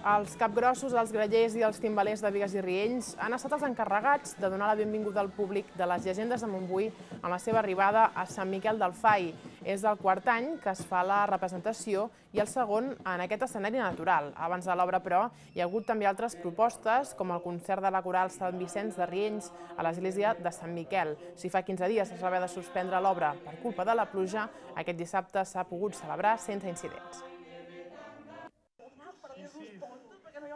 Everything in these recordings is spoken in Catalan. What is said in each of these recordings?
Els capgrossos, els grallers i els timbalers de Bigues i Riells han estat els encarregats de donar la benvinguda al públic de les llegendes de Montbui en la seva arribada a Sant Miquel del Fai. És el quart any que es fa la representació i el segon en aquest escenari natural. Abans de l'obra, però, hi ha hagut també altres propostes, com el concert de la coral Sant Vicenç de Riells a l'església de Sant Miquel. Si fa 15 dies es va haver de suspendre l'obra per culpa de la pluja, aquest dissabte s'ha pogut celebrar sense incidents.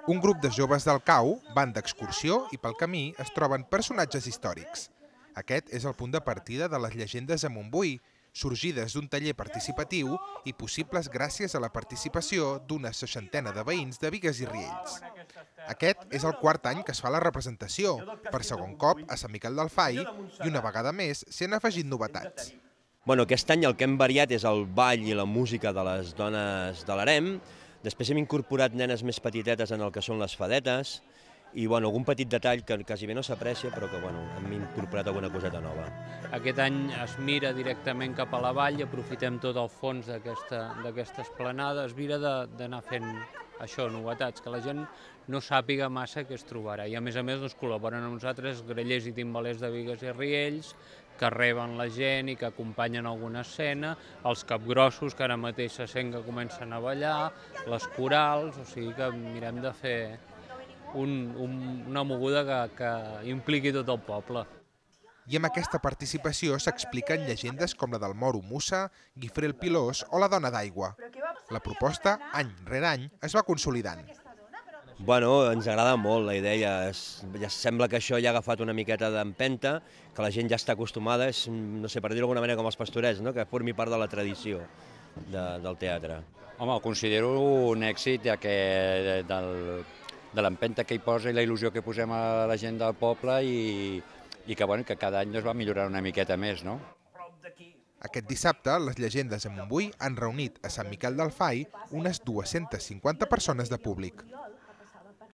Un grup de joves del Cau van d'excursió i pel camí es troben personatges històrics. Aquest és el punt de partida de les llegendes de Montbui, sorgides d'un taller participatiu i possibles gràcies a la participació d'una 60ena de veïns de Bigues i Riells. Aquest és el quart any que es fa la representació, per segon cop a Sant Miquel del Fai, i una vegada més s'hi han afegit novetats. Aquest any el que hem variat és el ball i la música de les dones de l'harem. Després hem incorporat nenes més petitetes en el que són les fadetes i algun petit detall que quasi bé no s'aprecia, però que hem incorporat alguna coseta nova. Aquest any es mira directament cap a la vall i aprofitem tot el fons d'aquesta esplanada. Es mira d'anar fent això, novetats, que la gent no sàpiga massa què es trobarà. I a més col·laboren amb nosaltres grallers i timbalers de Bigues i Riells, que reben la gent i que acompanyen alguna escena, els capgrossos, que ara mateix se sent que comencen a ballar, les corals, o sigui que mirem de fer una moguda que impliqui tot el poble. I amb aquesta participació s'expliquen llegendes com la del Moro Mussa, Guifré el Pilós o la Dona d'Aigua. La proposta, any rere any, es va consolidant. Ens agrada molt la idea, ja sembla que això ja ha agafat una miqueta d'empenta, que la gent ja està acostumada, no sé, per dir-ho d'alguna manera com els pastorets, que formi part de la tradició del teatre. Home, ho considero un èxit de l'empenta que hi posa i la il·lusió que posem a la gent del poble i que cada any va millorar una miqueta més, no? Aquest dissabte, les llegendes de Montbui han reunit a Sant Miquel del Fai unes 250 persones de públic.